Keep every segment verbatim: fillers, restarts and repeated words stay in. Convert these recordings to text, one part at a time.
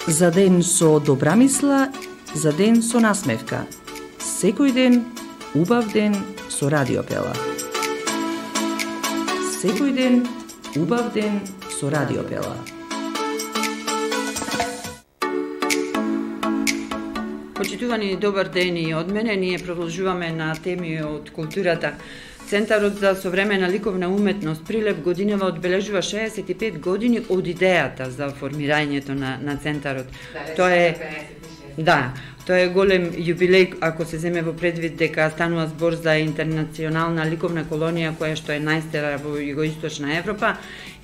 За ден со добра мисла, за ден со насмевка. Секој ден, убав ден со Радио Пела. Секој ден, убав ден со Радио Пела. Почитувани, добар ден и од мене. Ние продолжуваме на теми од културата. Центарот за современа ликовна уметност Прилеп годинава одбележува шеесет и пет години од идејата за формирањето на, на центарот. Да, Тоа е Да, тоа е голем јубилеј ако се земе во предвид дека станува збор за интернационална ликовна колонија која што е најстара во југоисточна Европа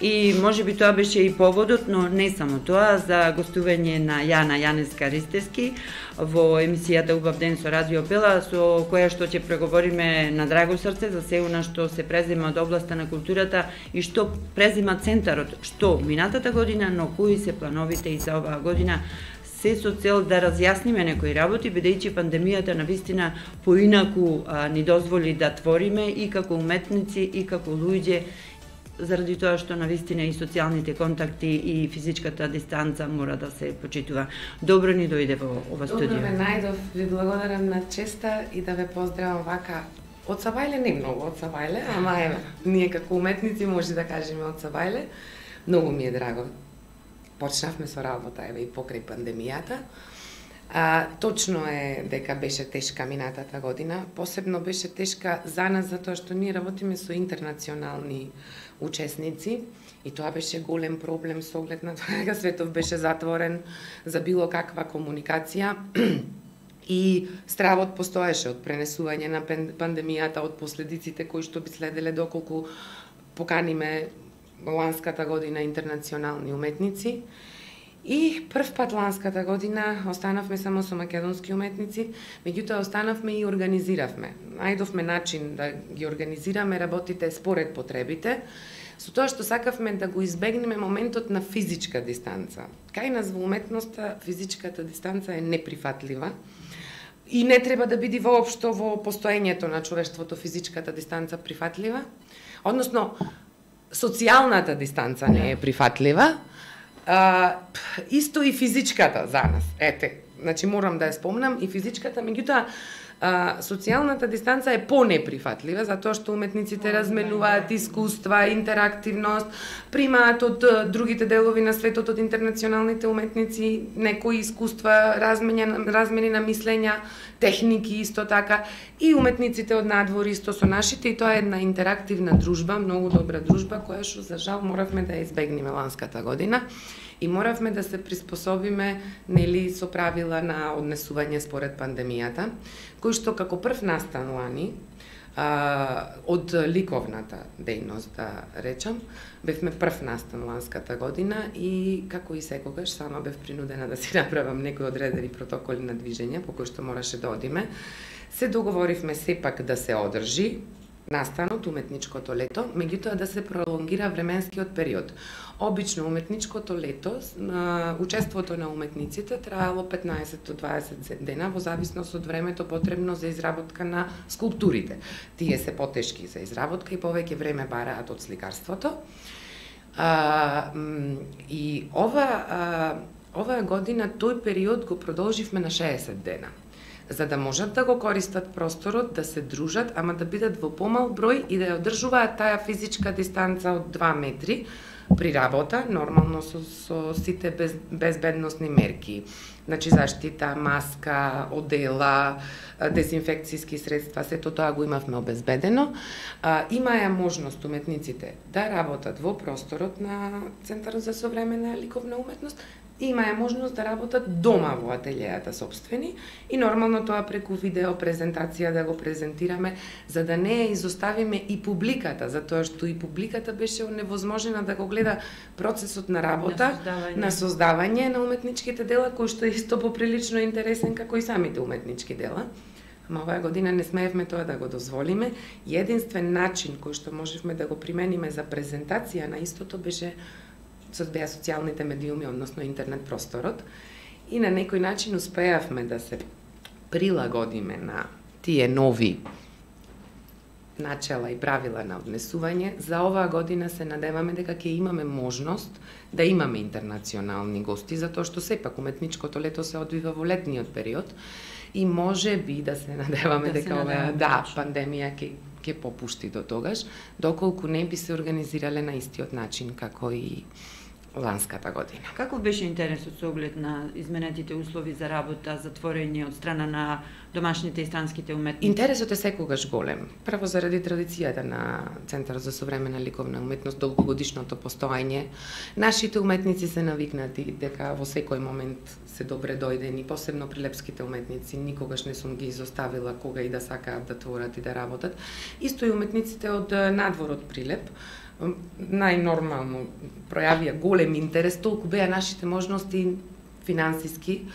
и можеби тоа беше и поводот, но не само тоа, за гостување на Јана Јанеска Ристевски во емисијата Убав ден со Радио Пела, со која што ќе преговориме на драго срце за се она што се презема од областа на културата и што презема центарот, што минатата година, но кои се плановите и за оваа година, се со цел да разјасниме некои работи, бидејќи пандемијата навистина поинаку а, ни дозволи да твориме и како уметници и како луѓе, заради тоа што навистина и социјалните контакти и физичката дистанца мора да се почитува. Добро ни дојде во ова студио. Добро ме најдов, ви благодарам на честа и да ве поздравам вака од Сабајле, не многу од Сабајле, ама еве, ние како уметници може да кажеме од Сабајле. Многу ми е драго. Почнавме со работа еве и покрај пандемијата. А, точно е дека беше тешка минатата година, посебно беше тешка за нас затоа што ние работиме со интернационални учесници и тоа беше голем проблем со оглед на тоа дека светов беше затворен за било каква комуникација и стравот постоеше од пренесување на пандемијата, од последиците кои што би следеле доколку поканиме ланската година интернационални уметници. И прв пат ланската година останавме само со македонски уметници, меѓутоа останавме и организиравме. Најдовме начин да ги организираме работите според потребите, со тоа што сакавме да го избегнеме моментот на физичка дистанца. Кај нас во уметноста физичката дистанца е неприфатлива и не треба да биде воопшто во постоењето на човештвото физичката дистанца прифатлива, односно социјалната дистанца не е прифатлива. А, исто и физичката за нас. Ете, значи морам да ја спомнам и физичката, меѓутоа социјалната дистанца е понеприфатлива затоа што уметниците разменуваат искуства, интерактивност, примаат од другите делови на светот, од интернационалните уметници некои искуства, размени, размени на мислења, техники исто така и уметниците од надвор исто со нашите и тоа е една интерактивна дружба, многу добра дружба која што за жал моравме да ја избегнеме ланската година. И моравме да се приспособиме нели со правила на однесување според пандемијата, кои што како прв настан лани а, од ликовната дејност, да речам, бевме прв настан ланската година и како и секогаш сама бев принудена да си направам некои одредени протоколи на движење по кои што мораше да одиме. Се договоривме сепак да се одржи настанот, уметничкото лето, меѓутоа да се пролонгира временскиот период. Обично уметничкото лето, учеството на уметниците траело петнаесет до дваесет дена во зависност од времето потребно за изработка на скулптурите. Тие се потешки за изработка и повеќе време бараат од сликарството. А, и ова а, оваа година тој период го продолживме на шеесет дена, за да можат да го користат просторот, да се дружат, ама да бидат во помал број и да ја одржуваат таа физичка дистанца од два метри при работа, нормално со, со сите без, безбедносни мерки. Значи заштита, маска, одела, дезинфекцијски средства, сето тоа го имавме обезбедено. А, има ја можност уметниците да работат во просторот на Центарот за современа ликовна уметност, има ја можност да работат дома во ателијата собствени и нормално тоа преку видео презентација да го презентираме, за да не ја изоставиме и публиката, затоа што и публиката беше невозможена да го гледа процесот на работа, на создавање на, создавање на уметничките дела, кој што е исто поприлично интересен како и самите уметнички дела. Ама оваа година не смеевме тоа да го дозволиме. Единствен начин кој што можевме да го примениме за презентација на истото беше со беа социјалните медиуми, односно интернет просторот, и на некој начин успеавме да се прилагодиме на тие нови начела и правила на однесување. За оваа година се надеваме дека ќе имаме можност да имаме интернационални гости, затоа што сепак уметничкото лето се одвива во летниот период и може би да се надеваме да дека оваа да, пандемија ќе ќе попушти до тогаш, доколку не би се организирале на истиот начин како и ланската година. Како беше интересот со оглед на изменетите услови за работа, затворење од страна на домашните и странските уметници? Интересот е секогаш голем. Прво заради традицијата на Центарот за современа ликовна уметност, долгогодишното постоење. Нашите уметници се навикнати дека во секој момент се добре дојдени, посебно прилепските уметници, никогаш не сум ги изоставила кога и да сакаат да творат и да работат. Исто и уметниците од надвор од Прилеп, најнормално пројавија голем интерес, толку беа нашите можности финансиски.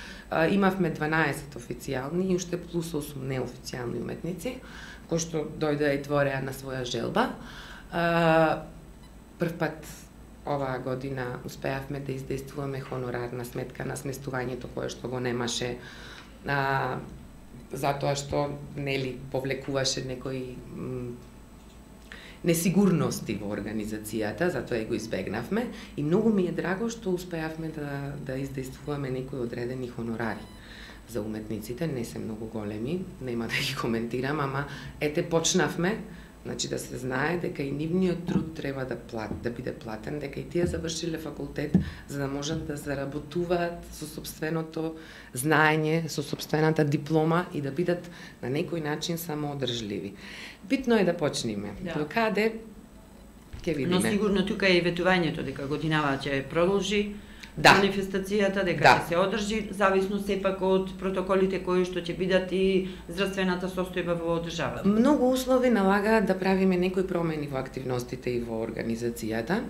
Имавме дванаесет официјални и уште плюс осум неофицијални уметници, кои што дојдеа и твореа на своја желба. Прв пат оваа година успеавме да издействуваме хонорарна сметка на сместувањето кое што го немаше, а, затоа што нели повлекуваше некои несигурности во организацијата, затоа и го избегнавме и многу ми е драго што успеавме да да издействуваме некои одредени хонорари за уметниците, не се многу големи, нема да ги коментирам, ама ете почнавме, значи да се знае дека и нивниот труд треба да плат, да биде платен, дека и тие завршиле факултет за да можат да заработуваат со сопственото знаење, со сопствената диплома и да бидат на некој начин самоодржливи. Битно е да почнеме. Да. До каде ќе видиме. Но сигурно тука е и ветувањето дека годинава ќе продолжи. Да. Манифестацијата дека да. ќе се одржи, зависно сепак од протоколите кои што ќе бидат и здравствената состојба во државата. Многу услови налагаат да правиме некои промени во активностите и во организацијата,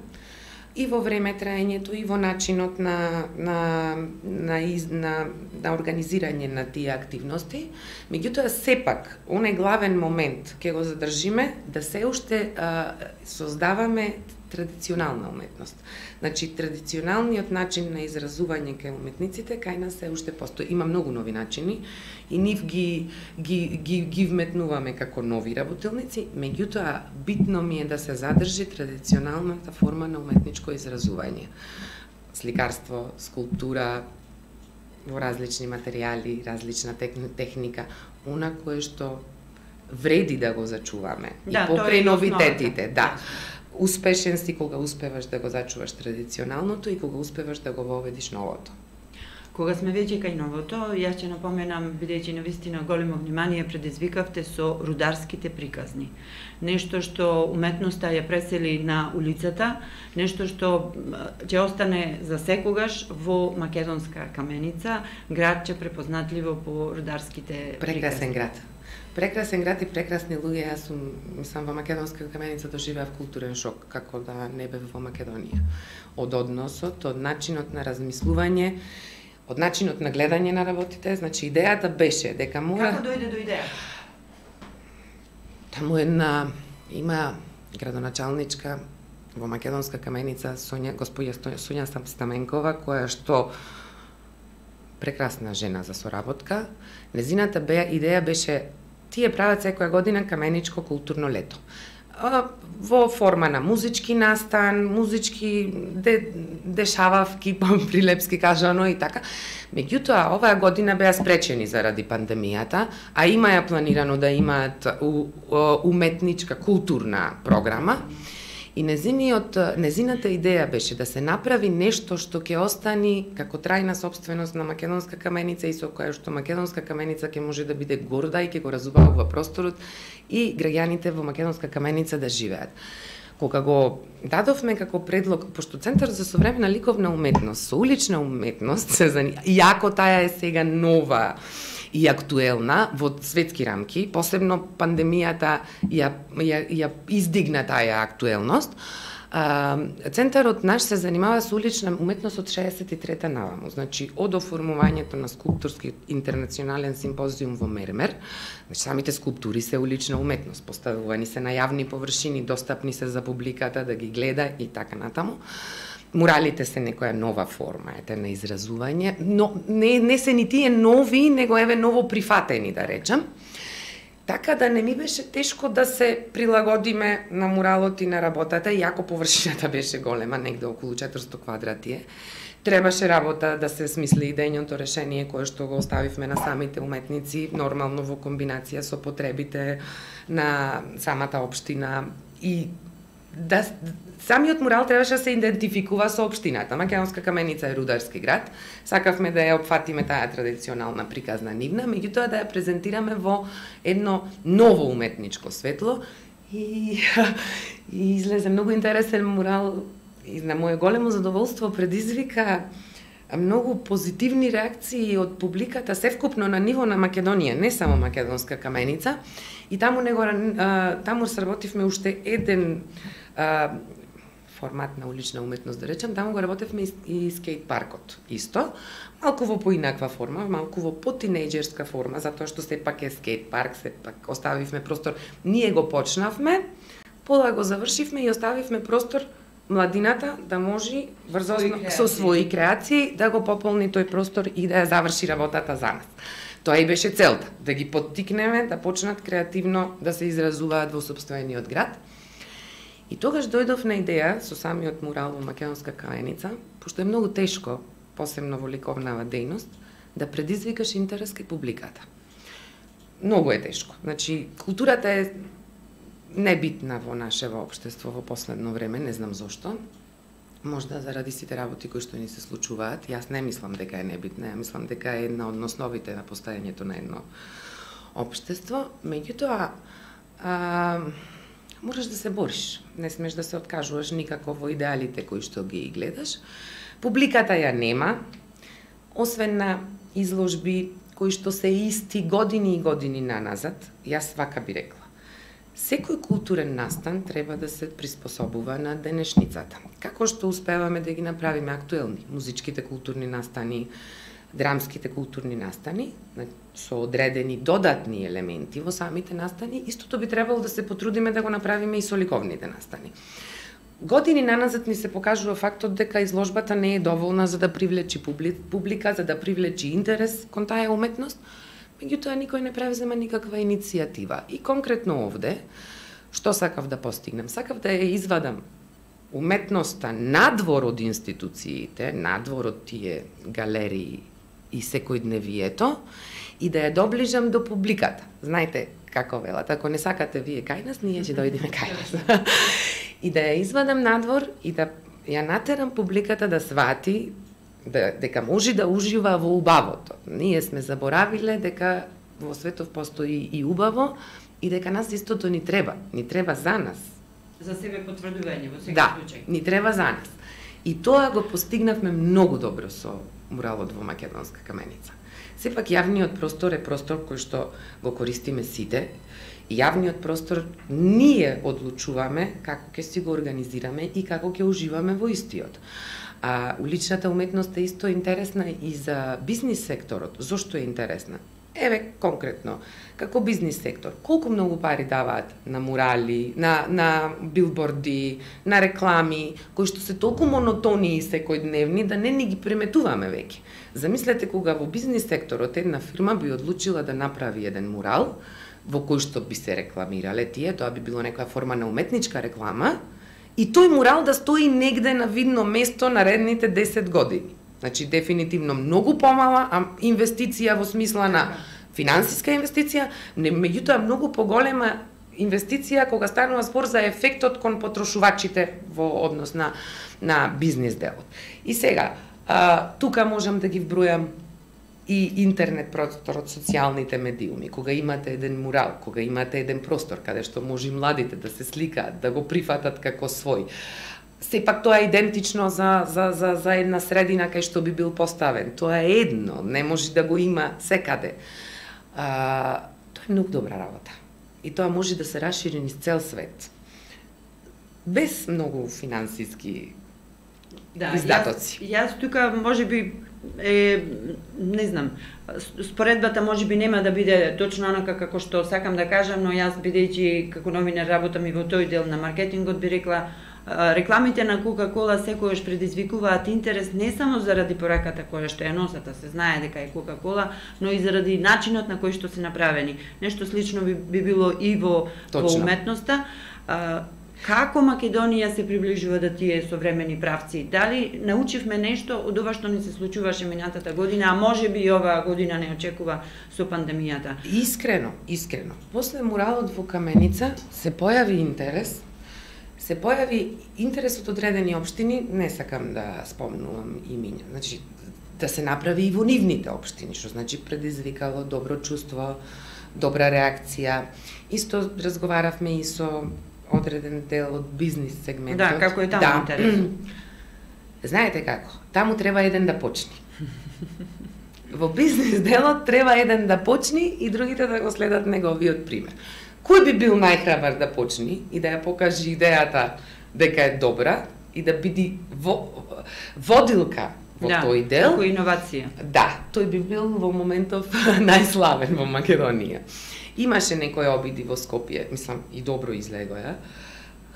и во време траењето, и во начинот на на на, из, на, на организирање на тие активности. Меѓутоа сепак оној главен момент ќе го задржиме да се уште а, создаваме традиционална уметност. Значи, традиционалниот начин на изразување кај уметниците кај нас се уште постои. Има многу нови начини и нив ги, ги, ги, ги вметнуваме како нови работилници, меѓутоа битно ми е да се задржи традиционалната форма на уметничко изразување. Сликарство, скулптура, во различни материјали, различна техника, она кое што вреди да го зачуваме. Да, и покрај новитетите, основата. да. Успешен си кога успеваш да го зачуваш традиционалното и кога успеваш да го воведиш новото. Кога сме веќе кај новото, јас ќе напоменам, бидејќи навистина големо внимание предизвикавте со рударските приказни. Нешто што уметноста ја пресели на улицата, нешто што ќе остане за секогаш во Македонска Каменица, градче препознатливо по рударските приказни. Прекрасен град. Прекрасен град и прекрасни луѓе. Јас сум, сам во Македонска Каменица доживеав културен шок, како да не бев во Македонија. Од односот, од начинот на размислување, од начинот на гледање на работите, значи идејата беше дека мора... Како дојде до идеја? Таму една има градоначалничка во Македонска Каменица, Сонја, господја Сонја Стаменкова, која што прекрасна жена за соработка. Незината беа идеја беше тие прават секоја година каменичко културно лето. Во форма на музички настан, музички де, дешававки, прилепски кажано и така. Меѓутоа, оваа година беа спречени заради пандемијата, а има ја планирано да имаат у, у, уметничка културна програма. И незиниот, незината идеја беше да се направи нешто што ќе остани како трајна собственост на Македонска Каменица и со која што Македонска Каменица ќе може да биде горда и ќе го разубава просторот и граѓаните во Македонска Каменица да живеат. Кога го дадовме како предлог, пошто Центар за современа ликовна уметност со улична уметност се занимава, иако таа е сега нова и актуелна во светски рамки, посебно пандемијата ја, ја, ја издигна таа актуелност. А, центарот наш се занимава со улична уметност од шеесет и трета наваму, значи од оформувањето на скулпторски интернационален симпозиум во Мермер, значи самите скулптури се улична уметност, поставувани се на јавни површини, достапни се за публиката да ги гледа и така натаму. Муралите се некоја нова форма ете на изразување, но не, не се ни тие нови, него еве ново прифатени, да речем. Така да не ми беше тешко да се прилагодиме на муралот и на работата, иако површината беше голема, негде околу четиристотини квадрати е. Требаше работа да се смисли идејното решение кое што го оставивме на самите уметници, нормално во комбинација со потребите на самата општина и да самиот мурал требаше да се идентификува со општината. Македонска Каменица е рударски град. Сакавме да ја опфатиме таа традиционална приказна нивна, меѓутоа да ја презентираме во едно ново уметничко светло и, и излезе многу интересен мурал и на моје големо задоволство предизвика многу позитивни реакции од публиката севкупно на ниво на Македонија, не само Македонска Каменица. И таму него таму сработивме уште еден а, формат на улична уметност, да речем, таму го работевме и скейт паркот. Исто, малку во поинаква форма, малку во потинејџерска форма, затоа што сепак е скейт парк, сепак оставивме простор. Ние го почнавме, пола го завршивме и оставивме простор младината да може врзо со своји креации да го пополни тој простор и да ја заврши работата за нас. Тоа и беше целта, да ги поттикнеме да почнат креативно да се изразуваат во сопствениот град. И тогаш дојдов на идеја со самиот мурал во Македонска Каменица, пошто е многу тешко, посебно во ликовнава дејност, да предизвикаш интерес кај публиката. Многу е тешко. Значи, културата е небитна во нашево општество во последно време, не знам зошто. Можда заради сите работи кои што ни се случуваат. Јас не мислам дека е небитна, ја мислам дека е една од основите на постојањето на едно општество. Меѓутоа, а, можеш да се бориш. Не смеш да се откажуваш никако во идеалите кои што ги гледаш. Публиката ја нема, освен на изложби кои што се исти години и години наназад, јас вака би рекла. Секој културен настан треба да се приспособува на денешницата. Како што успеваме да ги направиме актуелни музичките културни настани, драмските културни настани, со одредени додатни елементи во самите настани, истото би требало да се потрудиме да го направиме и со ликовните настани. Години наназад ни се покажува фактот дека изложбата не е доволна за да привлечи публика, за да привлечи интерес кон таа уметност, меѓутоа никој не превзема никаква иницијатива. И конкретно овде, што сакав да постигнем? Сакав да ја извадам уметноста надвор од институциите, надвор од тие галерии и секојдневието, и да ја доближам до публиката. Знаете како велат, ако не сакате вие кај нас, ние ќе дојдеме кај нас. И да ја извадам надвор и да ја натерам публиката да свати Да, дека може да ужива во убавото. Ние сме заборавиле дека во светов постои и убаво и дека нас истото ни треба. Ни треба за нас. За себе потврдување во секој да, случај. Да, ни треба за нас. И тоа го постигнавме многу добро со муралот во Македонска Каменица. Сепак јавниот простор е простор кој што го користиме сите. И јавниот простор ние одлучуваме како ќе си го организираме и како ќе уживаме во истиот. А уличната уметност е исто интересна и за бизнис секторот. Зошто е интересна? Еве конкретно, како бизнис сектор, колку многу пари даваат на мурали, на на билборди, на реклами, кои што се толку монотони и секојдневни да не ни ги приметуваме веќе. Замислете кога во бизнис секторот една фирма би одлучила да направи еден мурал во кој што би се рекламирале тие, тоа би било некоја форма на уметничка реклама, и тој мурал да стои негде на видно место наредните десет години. Значи, дефинитивно многу помала а инвестиција во смисла на финансиска инвестиција, меѓутоа многу поголема инвестиција кога станува збор за ефектот кон потрошувачите во однос на, на бизнес делот. И сега, а, тука можам да ги вбројам и интернет просторот, социјалните медиуми, кога имате еден мурал, кога имате еден простор каде што може младите да се сликаат, да го прифатат како свој. Сепак тоа е идентично за, за, за, за една средина кај што би бил поставен. Тоа е едно, не може да го има секаде. А, тоа е многу добра работа. И тоа може да се расшири низ цел свет. Без многу финансиски да, издатоци. Јас, јас тука може би е, не знам, споредбата може би нема да биде точно онака како што сакам да кажам, но јас бидејќи како новинар работам и во тој дел на маркетингот би рекла, Рекламите на Кока-кола секогаш предизвикуваат интерес не само заради пораката која што ја носат, а се знае дека е Кока-кола, но и заради начинот на кој што се направени. Нешто слично би, би било и во, во уметноста. Како Македонија се приближува до тие современи правци? Дали научивме нешто од ова што ни се случуваше минатата година, а може би и оваа година не очекува со пандемијата? Искрено, искрено. После муралот во Каменица се појави интерес, се појави интерес од одредени општини, не сакам да спомнувам имиња, значи да се направи и во нивните општини, што значи предизвикало добро чувство, добра реакција. Исто разговаравме и со одреден дел од бизнис сегментот. Да, како е таму да. Интерес? Знаете како? Таму треба еден да почне. Во бизнис делот треба еден да почне и другите да го следат неговиот пример. Кој би бил најхрабар да почне и да ја покаже идејата дека е добра и да биде во, водилка во да, тој дел? Како иновација. Да, тој би бил во моментов најславен во Македонија. Имаше некои обиди во Скопје, мислам и добро излегоја.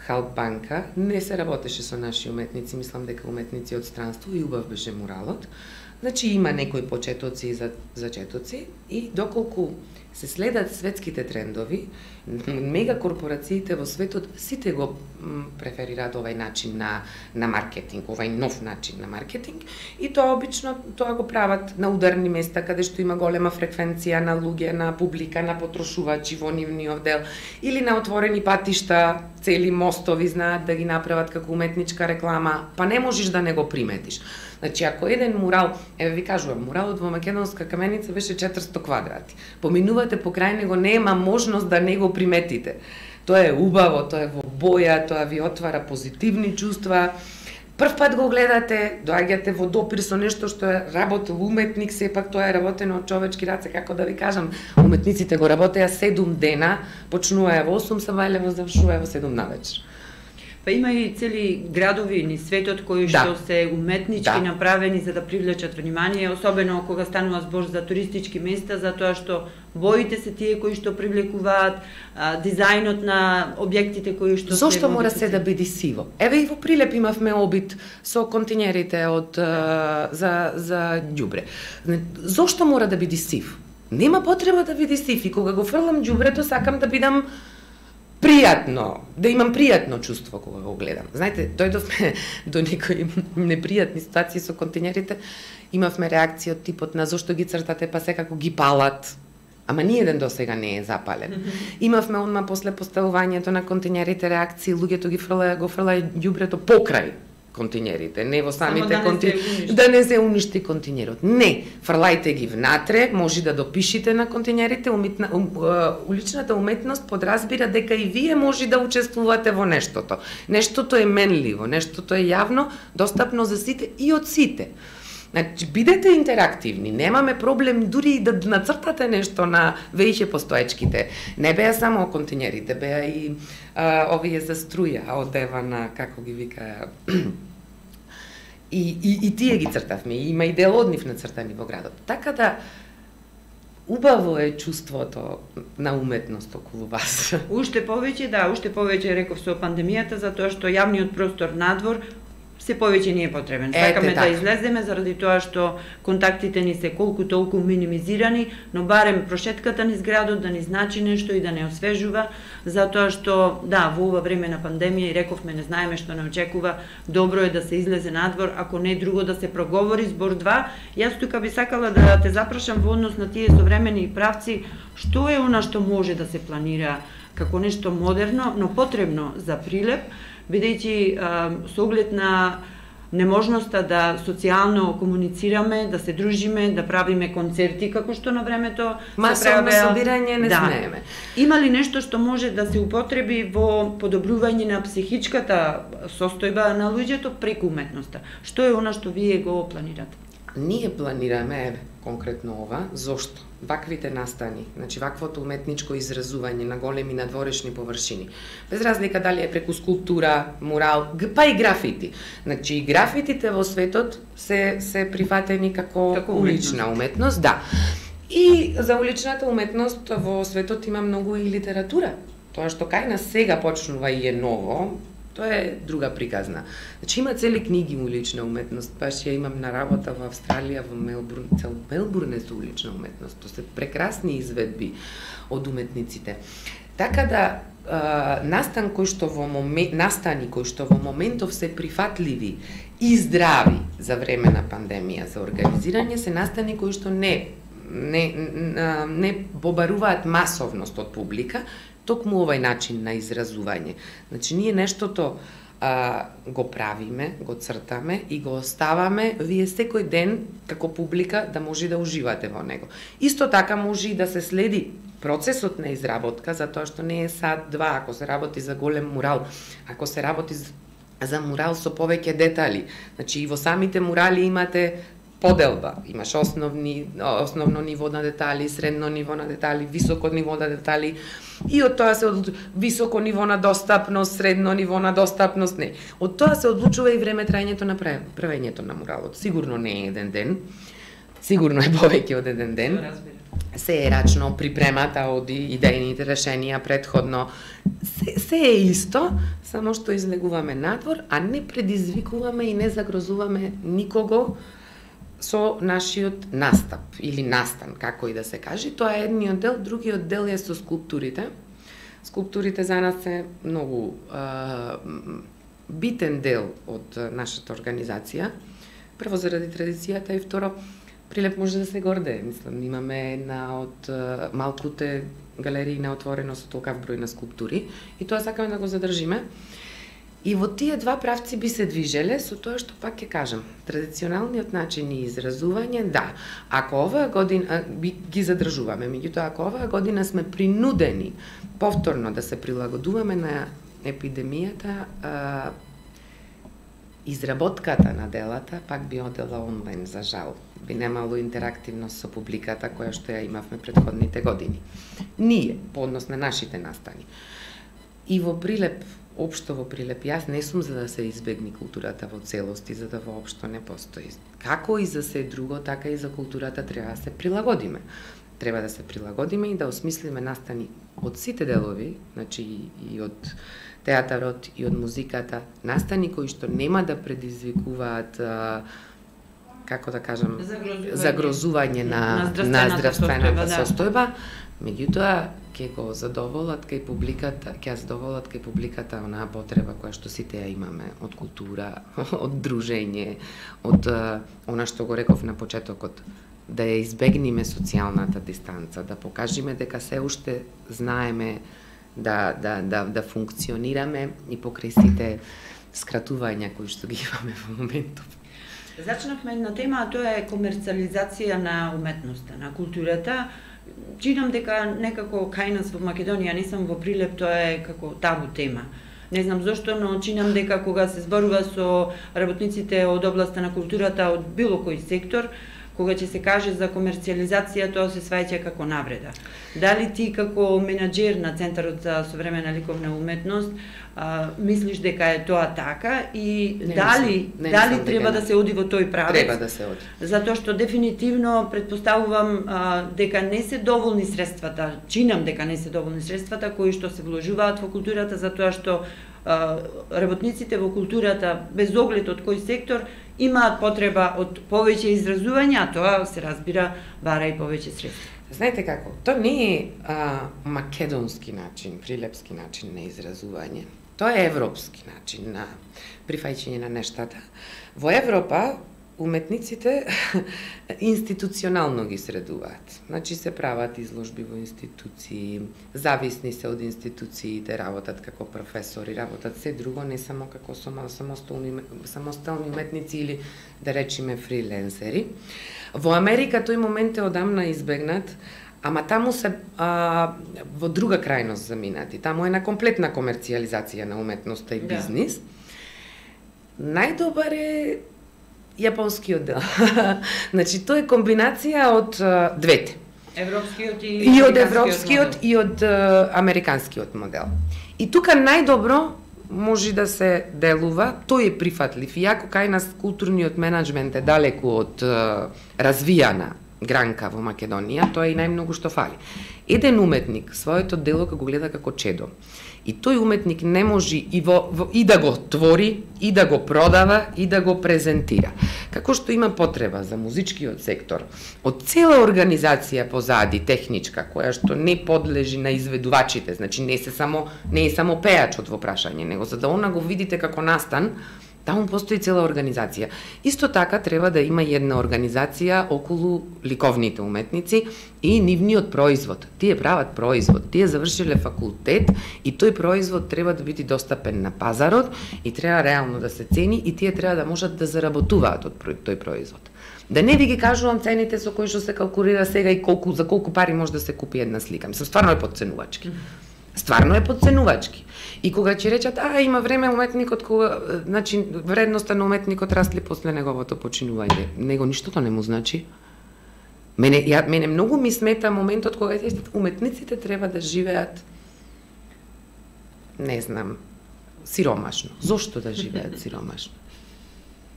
Халкбанка не се работеше со наши уметници, мислам дека уметници од странство и убав беше муралот. Значи има некои почетоци и зачетоци и доколку се следат светските трендови, мегакорпорациите во светот сите го преферираат овај начин на на маркетинг, овај нов начин на маркетинг и тоа обично тоа го прават на ударни места каде што има голема фреквенција на луѓе, на публика, на потрошувачи во нивниот дел или на отворени патишта, цели мостови знаат да ги направат како уметничка реклама, па не можеш да не го приметиш. Значи, ако еден мурал, еве ви кажувам, муралот во Македонска Каменица беше четиристо квадрати. Поминувате покрај него, нема можност да не го приметите. Тоа е убаво, тоа е во боја, тоа ви отвара позитивни чувства. Прв пат го гледате, доаѓате во допир со нешто што е работел уметник, сепак тоа е работено од човечки раце, како да ви кажам, уметниците го работеа седум дена, почнуваа во осум сабајлево, завршуваа во седум навечер. Па има и цели градови ни светот кои да. Што се уметнички да. Направени за да привлечат внимание, особено кога станува збор за туристички места, затоа што боите се тие кои што привлекуваат, а, дизајнот на објектите кои што Зошто се Зошто мора се да биде сиво? Еве и во Прилеп имавме обид со континерите од а, за за ѓубре. Зошто мора да биде сив? Нема потреба да биде сив и кога го фрлам ѓубрето сакам да бидам пријатно, да имам пријатно чувство кога го гледам. Знаете, дојдовме до некои непријатни ситуации со континерите, имавме реакција од типот на зошто ги цртате па секако ги палат, ама ниеден до сега не е запален. Mm-hmm. Имавме одма после поставувањето на континерите реакции, луѓето ги фрлаја, го фрлаја ѓубрето покрај континерите, не во самите да континери, да не се уништи континерот. Не, фрлајте ги внатре, може да допишите на континерите, умитна, ум, уличната уметност подразбира дека и вие може да учествувате во нештото. Нештото е менливо, нештото е јавно, достапно за сите и од сите. Значи, бидете интерактивни, немаме проблем дури да нацртате нешто на веќе постоечките. Не беа само континерите, беа и а, овие за струја, одева на, како ги викаа, и, и, и тие ги цртавме, има и дел од нив нацртани во градот. Така да, убаво е чувството на уметност околу вас. Уште повеќе, да, уште повеќе реков со пандемијата, затоа што јавниот простор надвор се повеќе не е потребен. Сакаме да излеземе заради тоа што контактите ни се колку толку минимизирани, но барем прошетката низ градот да ни значи нешто и да не освежува, затоа што да, во ова време на пандемија и рековме не знаеме што не очекува, добро е да се излезе надвор, ако не друго да се проговори збор два. Јас тука би сакала да те запрашам во однос на тие современи правци, што е она што може да се планира како нешто модерно, но потребно за Прилеп, бидејќи со оглед на неможноста да социјално комуницираме, да се дружиме, да правиме концерти како што на времето се правеа. Масовно собирање не да. Смееме. Има ли нешто што може да се употреби во подобрување на психичката состојба на луѓето преку уметноста? Што е она што вие го планирате? Ние планираме, еве, конкретно ова, зошто? Ваквите настани, значи ваквото уметничко изразување на големи надворешни површини. Без разлика дали е преку скулптура, мурал, па и графити. Значи и графитите во светот се се прифатени како, како улична уметност, да. И за уличната уметност во светот има многу и литература. Тоа што кај нас сега почнува и е ново, Тоа е друга приказна. Значи има цели книги улична уметност, баш ја имам на работа во Австралија, во Мелбурн, цел Мелбурн е со улична уметност. Тоа се прекрасни изведби од уметниците. Така да а, настан кој што во момент, настани кои што во моментов се прифатливи и здрави за време на пандемија за организирање, се настани кои што не не не побаруваат масовност од публика, токму овај начин на изразување. Значи ние нештото а, го правиме, го цртаме и го оставаме вие секој ден како публика да може да уживате во него. Исто така може и да се следи процесот на изработка, затоа што не е сат-два, ако се работи за голем мурал, ако се работи за мурал со повеќе детали. Значи и во самите мурали имате поделба, имаш основни, основно ниво на детали, средно ниво на детали, високо ниво на детали, и од тоа се одлучува високо ниво на достапност, средно ниво на достапност, не. Од тоа се одлучува и време трајањето на правењето на муралот. Сигурно не е еден ден, сигурно е повеќе од еден ден. Се е рачно припремата од идејните решенија предходно. Се, се е исто, само што излегуваме надвор, а не предизвикуваме и не загрозуваме никого со нашиот настап или настан, како и да се каже. Тоа е едниот дел, другиот дел е со скулптурите. Скулптурите за нас е многу а, битен дел од нашата организација. Прво заради традицијата и второ, Прилеп може да се горде. Мислам, имаме една од малкуте галерии на отворено со толкав број на скулптури и тоа сакаме да го задржиме. И во тие два правци би се движеле, со тоа што пак ќе кажам, традиционалниот начин и изразување, да, ако оваа година би, ги задржуваме, меѓутоа ако оваа година сме принудени повторно да се прилагодуваме на епидемијата, а, изработката на делата пак би одела онлайн, за жал. Би немало интерактивност со публиката која што ја имавме предходните години. Ние, по однос на нашите настани. И во Прилеп, општо во Прилеп, јас не сум за да се избегне културата во целости, за да воопшто не постои. Како и за се друго, така и за културата треба да се прилагодиме. Треба да се прилагодиме и да осмислиме настани од сите делови, значи и од театарот и од музиката, настани кои што нема да предизвикуваат, а, како да кажам, загрозување, загрозување на, на здравствената состојба, меѓутоа ќе го задоволат кај публиката, ќе задоволат кај публиката онаа потреба која што сите ја имаме од култура, од дружење, од а, она што го реков на почетокот, да ја избегнеме социјалната дистанца, да покажеме дека се уште знаеме да, да, да, да функционираме и покрај сите скратувања кои што ги имаме во моментов. Зачнавме една тема, а тоа е комерциализација на уметноста, на културата. Чинам дека некако кај нас во Македонија, не сам во Прилеп, тоа е како табу тема. Не знам зошто, но чинам дека кога се зборува со работниците од областа на културата од било кој сектор, кога ќе се каже за комерциализација, тоа се сваќа како навреда. Дали ти како менаџер на Центарот за современа ликовна уметност а, мислиш дека е тоа така и не дали не дали не треба да се оди во тој правец? Треба да се оди. Затоа што дефинитивно предпоставувам а, дека не се доволни средствата, чинам дека не се доволни средствата кои што се вложуваат во културата, затоа што а, работниците во културата, без оглед од кој сектор, имаат потреба од повеќе изразување, а тоа се разбира бара и повеќе средства. Знаете како, тоа не е а, македонски начин, прилепски начин на изразување. Тоа е европски начин на прифаќање на нештата. Во Европа уметниците институционално ги средуваат. Значи се прават изложби во институции, зависни се од институциите, работат како професори, работат се друго, не само како самостални, самостални уметници или да речеме фриленсери. Во Америка тој момент е одамна избегнат, ама таму се а, во друга крајност заминати. Таму е на комплетна комерцијализација на уметноста и бизнис. Да. Најдобар е јапонскиот дел. Значи, тоа е комбинација од uh, двете. Европскиот и, и од европскиот и од uh, американскиот модел. И тука најдобро може да се делува, тој е прифатлив. Иако кај нас културниот менаџмент е далеку од uh, развијана гранка во Македонија, тоа е и најмногу што фали. Еден уметник своето дело го гледа како чедо. И тој уметник не може и, во, во, и да го твори, и да го продава, и да го презентира. Како што има потреба за музичкиот сектор, од цела организација позади, техничка, која што не подлежи на изведувачите, значи не, се само, не е само пеачот во прашање, него за да она го видите како настан, таму постои цела организација. Исто така треба да има една организација околу ликовните уметници и нивниот производ. Тие прават производ, тие завршиле факултет и тој производ треба да биде достапен на пазарот и треба реално да се цени и тие треба да можат да заработуваат од тој производ. Да не ви ги кажувам цените со кои што се калкулира сега и колку за колку пари може да се купи една слика. Мислам, стварно е подценувачки. Стварно е подценувачки. И кога ќе речат, а има време уметникот кога, значи вредноста на уметникот расли после неговото починување. Него ништото не му значи. Мене ја мене многу ми смета моментот кога ќе уметниците треба да живеат, не знам, сиромашно. Зошто да живеат сиромашно?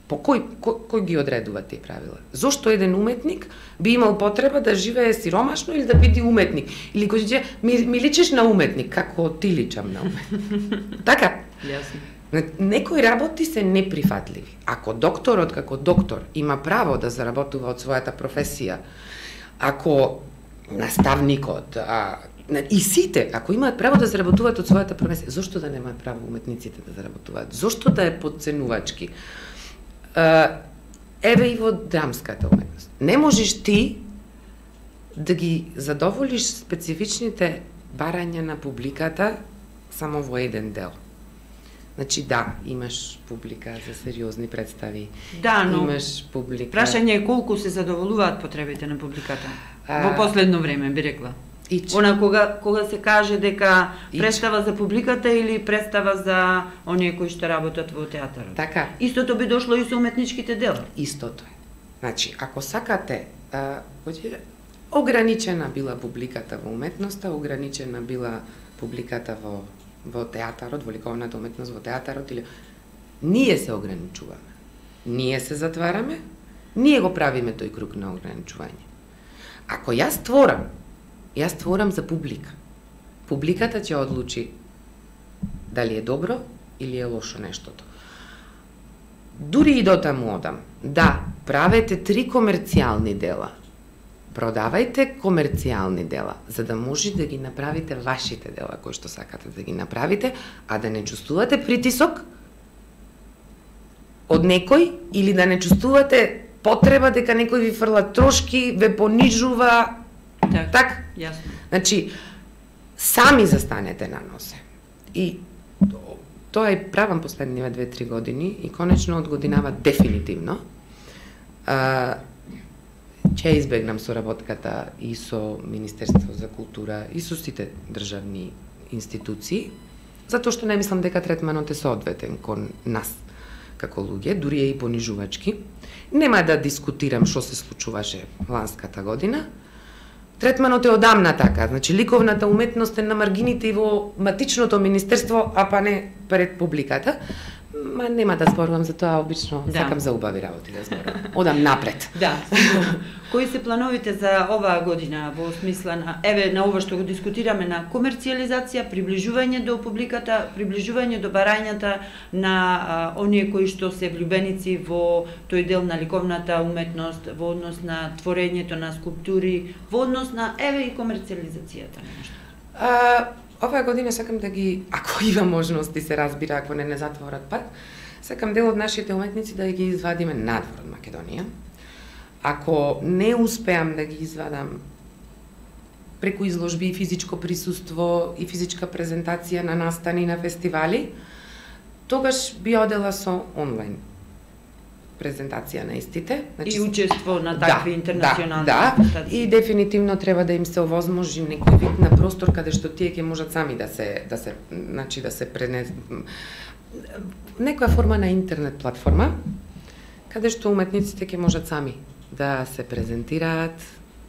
По кој, кој, кој ги одредува тие правила? Зошто еден уметник би имал потреба да живее сиромашно или да биде уметник? Или кој ќе ми, ми личиш на уметник, како ти личам на уметник. Така? Јасно. Некои работи се неприфатливи. Ако докторот како доктор има право да заработува од својата професија, ако наставникот, а, и сите, ако имаат право да заработуваат од својата професија, зошто да немаат право уметниците да заработуваат? Зошто да е подценувачки? Еве и во драмската уметност. Не можеш ти да ги задоволиш специфичните барања на публиката само во еден дел. Значи да, имаш публика за сериозни представи. Да, но имаш публика. Прашање е колку се задоволуваат потребите на публиката. А... Во последно време би рекла. Ич. Она кога кога се каже дека представа за публиката или представа за оние кои што работат во театарот. Така. Истото би дошло и со уметничките дела. Истото е. Значи, ако сакате, а, ограничена била публиката во уметноста, ограничена била публиката во во театарот, во ликовната уметност во театарот или ние се ограничуваме. Ние се затвараме, ние го правиме тој круг на ограничување. Ако јас творам Јас творам за публика. Публиката ќе одлучи дали е добро или е лошо нештото. Дури и до таму одам. Да, правете три комерцијални дела. Продавајте комерцијални дела, за да може да ги направите вашите дела кои што сакате да ги направите, а да не чувствувате притисок од некој или да не чувствувате потреба дека некој ви фрла трошки, ве понижува. Так, так? Јасно. Значи, сами застанете на носе. И тоа е правам последниве две-три години и конечно од годинава дефинитивно. А, ќе избегнам соработката и со Министерство за култура и со сите државни институции, затоа што не мислам дека третманот е соодветен кон нас како луѓе, дури е и понижувачки. Нема да дискутирам што се случуваше ланската година. Третманот е одамна така, значи ликовната уметност е на маргините и во матичното министерство, а па не пред публиката. Ма нема да зборувам за тоа, обично да. Сакам за убави работи да зборувам. Одам напред. Да. Кои се плановите за оваа година во смисла на еве на ова што го дискутираме на комерцијализација, приближување до публиката, приближување до барањата на а, оние кои што се влюбеници во тој дел на ликовната уметност, во однос на творењето на скулптури, во однос на еве и комерцијализацијата на нешто. А, оваа година сакам да ги, ако има можности се разбира, ако не не затворат пат, сакам дел од нашите уметници да ги извадиме надвор од Македонија. Ако не успеам да ги извадам преку изложби и физичко присуство и физичка презентација на настани на фестивали, тогаш би одела со онлайн презентација на истите. Значи, и учество на такви да, интернационални да, презентации. Да, и дефинитивно треба да им се овозможи некој вид на простор каде што тие ќе можат сами да се да се значи да се пренес некоја форма на интернет платформа каде што уметниците ќе можат сами да се презентираат,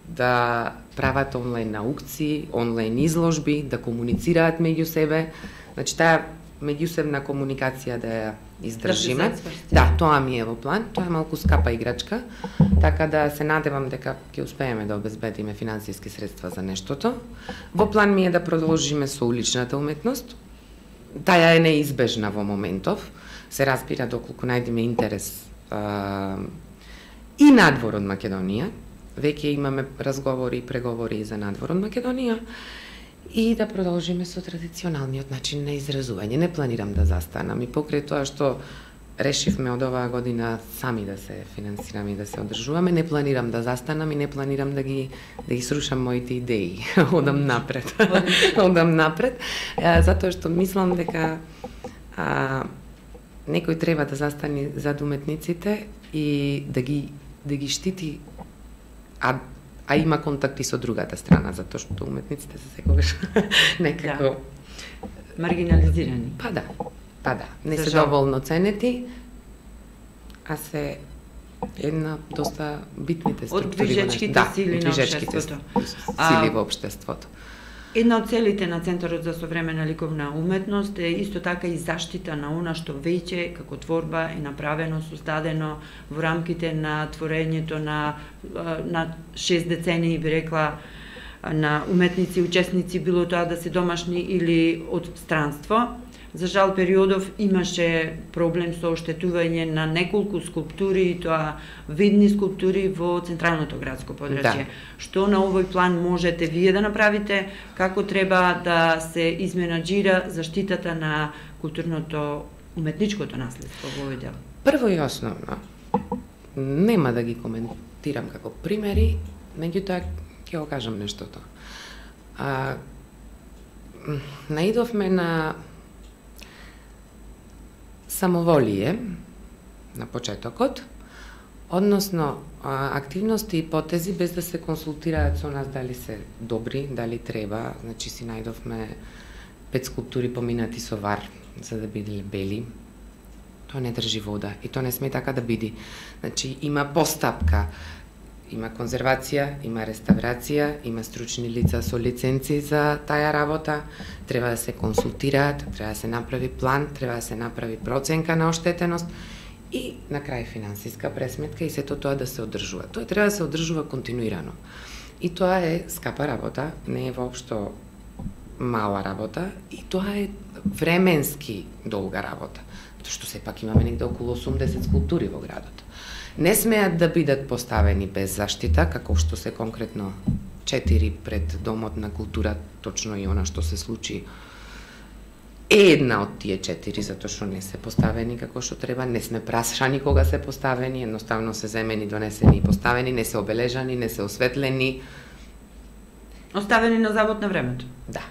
да прават онлайн наукци, онлайн изложби, да комуницираат меѓу себе. Значи таа меѓусебна комуникација да ја издржиме. Да, тоа ми е во план. Тоа е малку скапа играчка, така да се надевам дека ќе успееме да обезбедиме финансиски средства за нештото. Во план ми е да продолжиме со уличната уметност, таа е неизбежна во моментов, се разбира доколку најдеме интерес а, и надвор од Македонија, веќе имаме разговори и преговори за надвор од Македонија, и да продолжиме со традиционалниот начин на изразување. Не планирам да застанам и покрај тоа што решивме од оваа година сами да се финансираме и да се одржуваме, не планирам да застанам и не планирам да ги да ги срушам моите идеи. Одам напред. Одам напред, затоа што мислам дека а, некој треба да застане зад уметниците и да ги да ги штити, а а има контакти со другата страна, затоа што уметниците се секогаш некако да. Маргинализирани. Па да. Па да, не се доволно ценети, а се една доста битните структури. Од движечките да, сили на општеството. Сили во општеството. Една од целите на Центарот за современа ликовна уметност е исто така и заштита на она што веќе како творба е направено, создадено во рамките на творењето на на шест децении, би рекла, на уметници, учесници, било тоа да се домашни или од странство. За жал периодов имаше проблем со оштетување на неколку скулптури, и тоа видни скулптури во централното градско подрачје. Да. Што на овој план можете вие да направите, како треба да се изменаџира заштитата на културното уметничкото наследство во овој дел? Прво и основно, нема да ги коментирам како примери, меѓутоа ќе го кажам нештото. А, наидовме на самоволие на почетокот, односно активности и потези без да се консултираат со нас дали се добри, дали треба. Значи си најдовме пет скулптури поминати со вар за да биде бели. Тоа не држи вода и тоа не сме така да биде. Значи има постапка, има конзервација, има реставрација, има стручни лица со лиценци за таа работа, треба да се консултираат, треба да се направи план, треба да се направи проценка на оштетеност и на крај финансиска пресметка и сето тоа да се одржува. Тоа треба да се одржува континуирано. И тоа е скапа работа, не е воопшто мала работа и тоа е временски долга работа, тоа што сепак имаме негде околу осумдесет скулптури во градот. Не смеат да бидат поставени без заштита, како што се конкретно четири пред Домот на култура, точно и она што се случи е една од тие четири, затоа што не се поставени како што треба, не сме прашани кога се поставени, едноставно се земени, донесени и поставени, не се обележани, не се осветлени. Оставени на завод на времето. Да.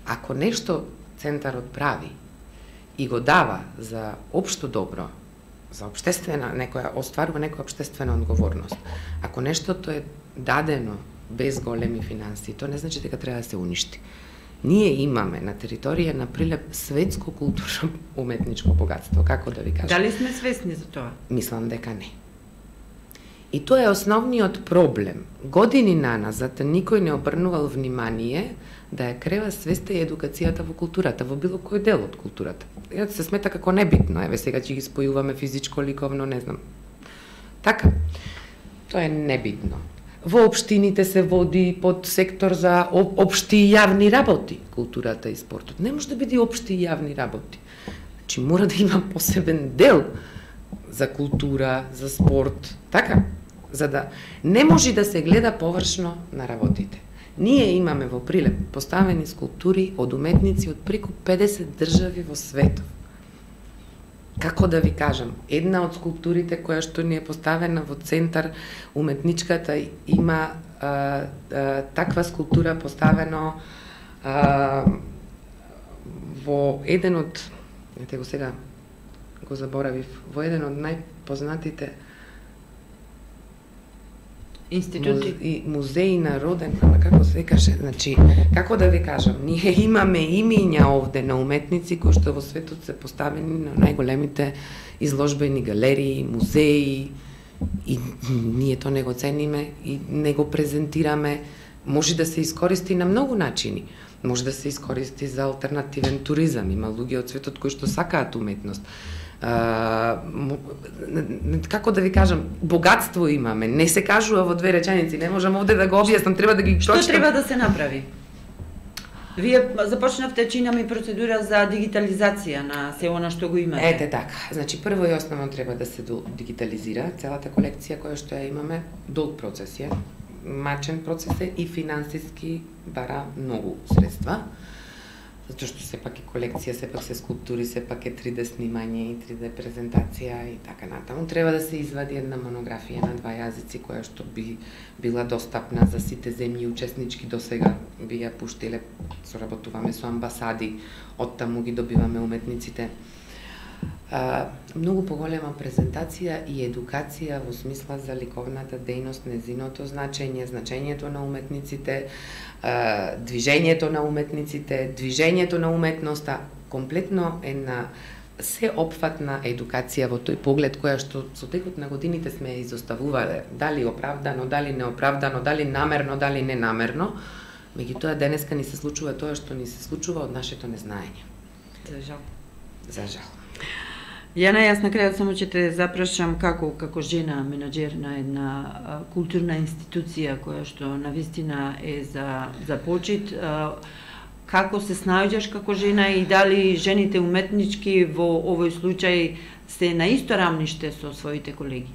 Ако нешто Центарот прави и го дава за општо добро, за општествена, некоја, остварува некоја општествена одговорност. Ако нештото е дадено без големи финанси, тоа не значи дека треба да се уништи. Ние имаме на територија на Прилеп светско културно уметничко богатство, како да ви кажам. Дали сме свесни за тоа? Мислам дека не. И тоа е основниот проблем. Години наназад никој не обрнувал внимание да ја крева свеста и едукацијата во културата, во било кој дел од културата. Ја се смета како небитно, еве сега ќе ги спојуваме физичко, ликовно, не знам. Така, тоа е небитно. Во општините се води под сектор за општи и јавни работи, културата и спортот. Не може да биде општи и јавни работи. Значи мора да има посебен дел за култура, за спорт, така, за да не може да се гледа површно на работите. Ние имаме во Прилеп поставени скулптури од уметници од преку педесет држави во светот. Како да ви кажам, една од скулптурите која што ни е поставена во центар уметничката има а, а, таква скулптура поставено а, во еден од, ете го сега го заборавив, во еден од најпознатите институти и музеи народен, како се каже, значи, како да ви кажам, ние имаме имиња овде на уметници кои што во светот се поставени на најголемите изложбени галерии, музеи и ние тоа не го цениме и не го презентираме. Може да се искористи на многу начини. Може да се искористи за алтернативен туризам. Има луѓе од светот кои што сакаат уметност. Uh, како да ви кажам, богатство имаме, не се кажува во две реченици, не можам овде да го објаснам, треба да ги Што прочитам. треба да се направи? Вие започнавте чинами процедура за дигитализација на се она што го имате. Ете така. Значи прво и основно треба да се дигитализира целата колекција која што ја имаме. Долг процес е, мачен процес е и финансиски бара многу средства. Затоа што сепак е колекција, сепак се скулптури, сепак е три де снимање и три де презентација и така натаму. Треба да се извади една монографија на два јазици која што би била достапна за сите земји учеснички досега би ја пуштиле. Соработуваме со амбасади, оттаму ги добиваме уметниците. А, многу поголема презентација и едукација во смисла за ликовната дејност, незиното значење, значењето на уметниците, а, движењето на уметниците, движењето на уметноста, комплетно една сеопфатна едукација во тој поглед која што со текот на годините сме ја изоставувале, дали оправдано, дали неоправдано, дали намерно, дали ненамерно, меѓутоа денеска ни се случува тоа што ни се случува од нашето незнаење. За жал. За жал. Јана, јас на крајот само ќе те запрашам како како жена менаџер на една а, културна институција која што навистина е за за почит, а, како се снаоѓаш како жена и дали жените уметнички во овој случај се на исто рамниште со своите колеги?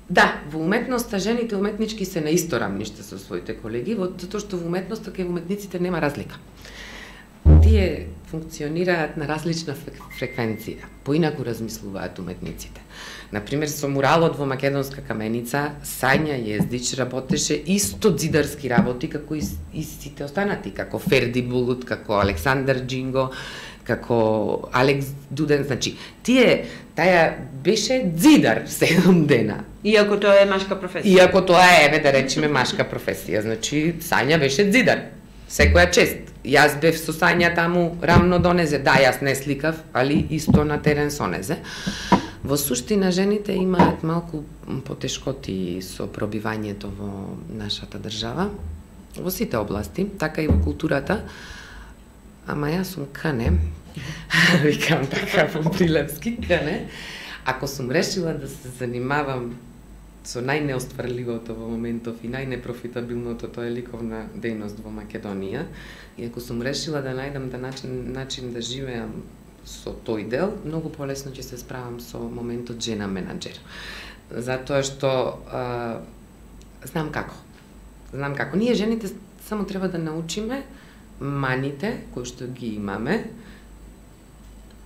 Да, во уметноста жените уметнички се на исто рамниште со своите колеги, затоа што во уметноста кај уметниците нема разлика. Тие функционираат на различна фреквенција, поинаку размислуваат уметниците. Например, со муралот во Македонска каменица, Сања Јездич работеше исто ѕидарски работи како и, и сите останати, како Ферди Булут, како Александар Джинго, како Алекс Дуден, значи, тие, таја беше ѕидар седум дена. Иако тоа е машка професија. Иако тоа е, еве да речеме, машка професија, значи, Сања беше дзидар. Секоја чест. Јас бев со Сања таму рамно до незе. Да, јас не сликав, али исто на терен со незе. Во суштина, жените имаат малку потешкоти со пробивањето во нашата држава, во сите области, така и во културата. Ама јас сум кане, викам така во прилепски, кане, ако сум решила да се занимавам со најнеостварливото во моментов и најнепрофитабилното, тоа е ликовна дејност во Македонија, и ако сум решила да најдам да начин, начин да живеам со тој дел, многу полесно ќе се справам со моментот жена менаџер. Затоа што а, знам како. Знам како. Ние жените само треба да научиме маните кои што ги имаме,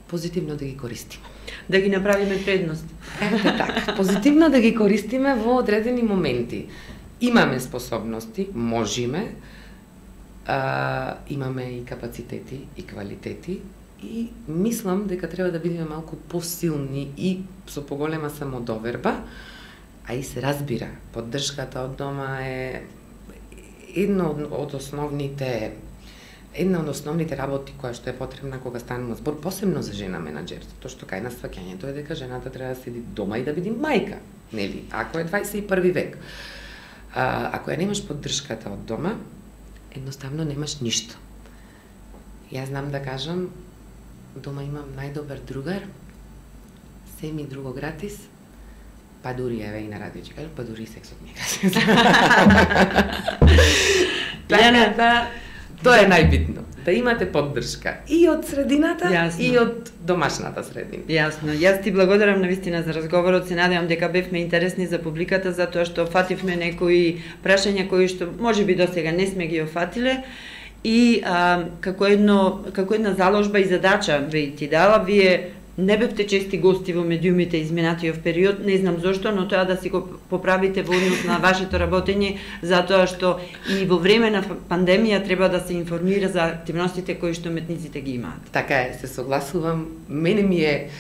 позитивно да ги користиме. Да ги направиме предност. Ете така, позитивно да ги користиме во одредени моменти. Имаме способности, можеме, а, имаме и капацитети и квалитети и мислам дека треба да бидеме малку посилни и со поголема самодоверба, а и се разбира, поддршката од дома е едно од основните Една од основните работи која што е потребна кога станува збор, посебно за жена менаџер, тоа што кај нас сваќањето е дека жената треба да седи дома и да биде мајка, нели? Ако е дваесет и први век. А, ако ја немаш поддршката од дома, едноставно немаш ништо. Јас знам да кажам, дома имам најдобар другар, се ми друго гратис, па дури еве и на радио ќе кажам, па дури и сексот ми е. Така да, тоа е најбитно, да имате поддршка и од средината, Јасно. и од домашната средина. Јасно. Јас ти благодарам навистина за разговорот. Се надевам дека бевме интересни за публиката, затоа што фативме некои прашања кои што можеби досега не сме ги офатиле. И а, како едно како една заложба и задача ви ти дала, вие не бевте чести гости во медиумите изминатиот период, не знам зошто, но тоа да си го поправите во однос на вашето работење, затоа што и во време на пандемија треба да се информира за активностите кои што уметниците ги имаат. Така е, се согласувам. Мене ми е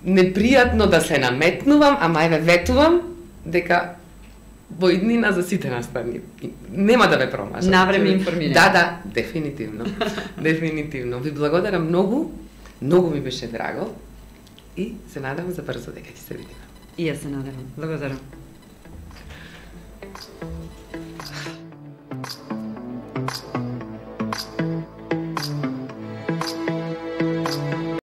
непријатно да се наметнувам, ама еве ветувам дека во иднина за сите настани. Нема да ве промажам. Навреме информирани. Да, да, дефинитивно. Дефинитивно. Ви благодарам многу. Многу ми беше драго и се надевам за брзо дека ќе се видиме. И јас се надевам. Благодарам.